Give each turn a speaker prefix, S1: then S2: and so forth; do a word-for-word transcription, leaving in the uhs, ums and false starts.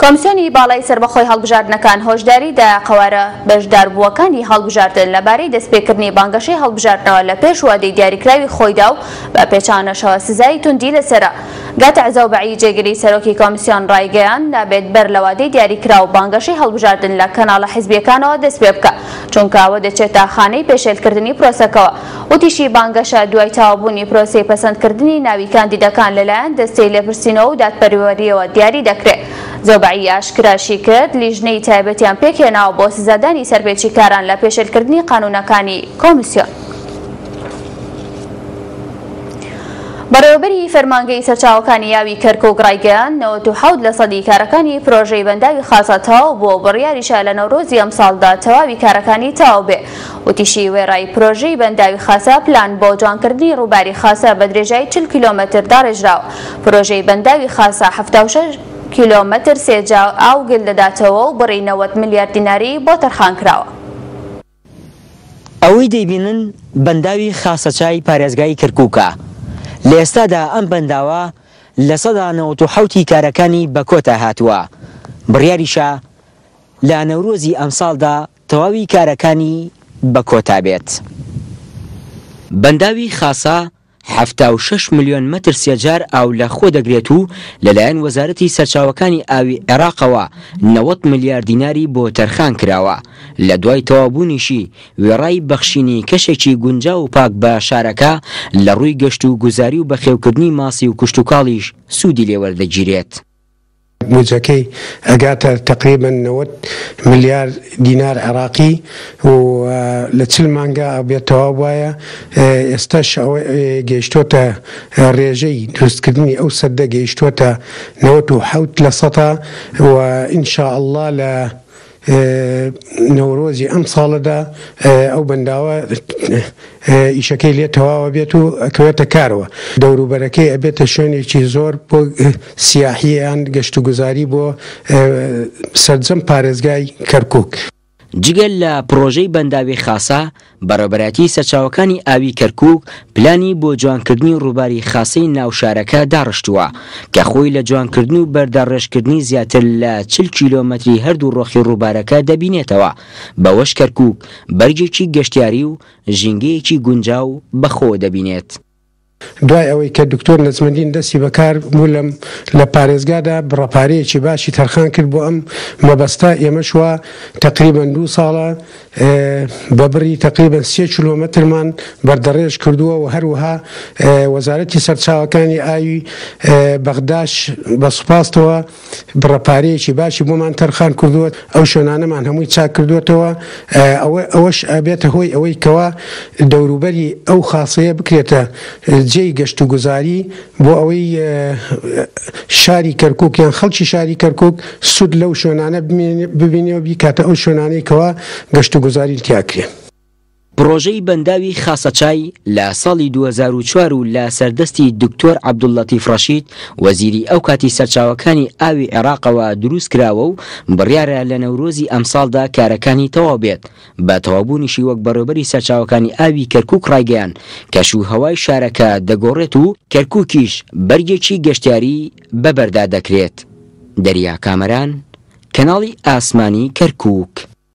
S1: کۆمسیۆنی باڵای سەربەخۆی هەڵبژاردنەکان هۆشداری دا قەوارە بەشداربووەکانی هەڵبژاردن لەبارەی دەستپێکردنی بانگەشەی هەڵبژاردنەوە لە پێش وادەی دیاریکراوی خۆیدا و بە پێچانەشەوە سزای توندی لەسەرە. گاتع زەوبەعی جێگری سەرۆکی کۆمسیۆن ڕایگەیاند نابێت بەر لە وادەی دیاریکراو بانگەشەی هەڵبژاردن لە کەناڵە حیزبیەکانەوە دەست پێ بکە، چونکە ئەوە دەچێتە خانەی پێشێلکردنی پرۆسەکەوە. وتیشی بانگەشە دوای تەواوبوونی پرۆسەی پەسەندکردنی ناوی کاندیدەکان لەلایەن دەستەی لێپرسینەوە و دادپەروەریەوە دیاری دەکرێت. زەوبەعی ئاشکراشی کرد لیژنەی تایبەتیان پێکهێناوە بۆ سزادانی سەرپێچیکاران لە پێشێلکردنی قانونەکانی کۆمیسیۆن. بەڕێوەبەری فەرمانگەی سەرچاوەکانی ئاوی کەرکوک ڕایگەیاند نەوەت و حەوت لە سەدی کارەکانی پرۆژەی بەنداوی خاسە تەواو بووە و بڕیاریشە لە نەورۆزی ئەمساڵدا تەواوی کارەکانی تەواو بێ. وتیشی وێڕای پرۆژەی بەنداوی خاسە پلان بۆ جوانکردنی ڕووباری خاسە بە درێژایی چل کیلۆمەتر داڕێژراوە. پرۆژەی بەنداوی خاسە حەفتا و شەش کیلۆمەتر سێجا ئاو گل دەداتەوە و بڕی نەوەد ملیار دیناری بۆ تەرخان کراوە.
S2: ئەوەی دەیبینن بەنداوی خاسەچای پارێزگای کەرکووکە. لە ئێستادا ئەم بەنداوە لە سەدا نەوەت و حەوتی کارەکانی بە کۆتا هاتووە. بڕیاریشە لە نەورۆزی ئەمساڵدا تەواوی کارەکانی بە کۆتا بێت. بەنداوی خاسە حەفتا و شەش ملیۆن مەتر سێجار ئاو لە خۆ دەگرێت و لەلایەن وەزارەتی سەرچاوەکانی ئاوی عێراقەوە نەوەد ملیار دیناری بۆ تەرخان کراوە. لە دوای تەواوبوونیشی وێڕای بەخشینی کەشێکی گونجاو و پاک بە شارەکە لە ڕووی گەشت و گوزاری و بەخێوکردنی ماسی و کشتوکاڵیش سوودی لێوەردەگیرێت.
S3: بودجەکەی ئەگاتە تقریبا نەوەد ملیار دینار عێراقی و لە چل مانگا ئەبێت تەواو وایە. ئێستاش ئەوە گەیشتۆتە ڕێژەی دروستکردنی ئەو سەدە گەیشتۆتە نەوەت و حەوت لە سەدا و ئینشاءڵڵا لە نەورۆزی ئەم ساڵەدا ئەو بەنداوە ئیشەکەی لێ تەواوە بێت و ئەکەوێتە کارەوە. دەوروبەرەکەی ئەبێتە شوێنێکی زۆر بۆ سیاحیان گەشتوگوزاری بۆ سەرجەم پارێزگای کەرکوک.
S2: جگە لە پرۆژەی بەنداوی خاسە، بەڕێوەبەرایەتی سەرچاوەکانی ئاوی کەرکوک پلانی بۆ جوانکردنی ڕووباری خاسەی ناوشارەکە داڕشتووە کە خۆی لە جوانکردن و بەردەڕێژکردنی زیاتر لە چل کیلۆمەتری هەردوو ڕۆخی ڕووبارەکە دەبینێتەوە. بەوەش کەرکوک بەرگێکی گەشتیاری و ژینگەیەکی گونجاو بەخۆوە دەبینێت.
S3: دوای ئەوەی کە دکتۆر نەجمەدین دەستی بەکار بوو لە پارێزگادا بڕەپارەیەکی باشی تەرخان کرد بۆ ئەم مەبەستە. ئێمەش وا تقریبا دوو ساڵە بە بڕی تقریبا سێ کیلۆمەترمان بەردەڕێژ کردووە و هەروەها وەزارەتی سەرچاوەکانی ئاوی بەغداش بە سوپاستەوە بڕەپارەیەکی باشی بۆمان تەرخان کردووە. ئەو شوێنانەمان هەمووی چاک کردووەتەوە. ئەوەش ئەبێتە هۆی ئەوەی کەوا دەوروبەری ئەو خاصەیە بکرێتە جێی گەشتوگوزاری بۆ ئەوەی شاری کەرکوک یان خەڵکی شاری کەرکوک سوود لەو شوێنانە ببینێ و بیکاتە ئەو شوێنانەی کەوا گەشتوگوزاری تیاکرێ.
S2: پرۆژەی بەنداوی خاسەچای لە ساڵی دوو هەزار و چوار و لە سەردەستی دکتۆر عەبدوللەتیف ڕەشید وەزیری ئەو کاتی سەرچاوەکانی ئاوی عێراقەوە دروست کراوە و بڕیارە لە نەورۆزی ئەمساڵدا کارەکانی تەواو بێت. بە تەواوبوونیشی وەک بەڕێوەبەری سەرچاوەکانی ئاوی کەرکوک ڕایگەیان کەش و هەوای شارەکە دەگۆڕێت و کەرکوکیش بەرگێکی گەشتیاری بەبەردا دەکرێت. دەریا کامەران، کەناڵی ئاسمانی کەرکوک.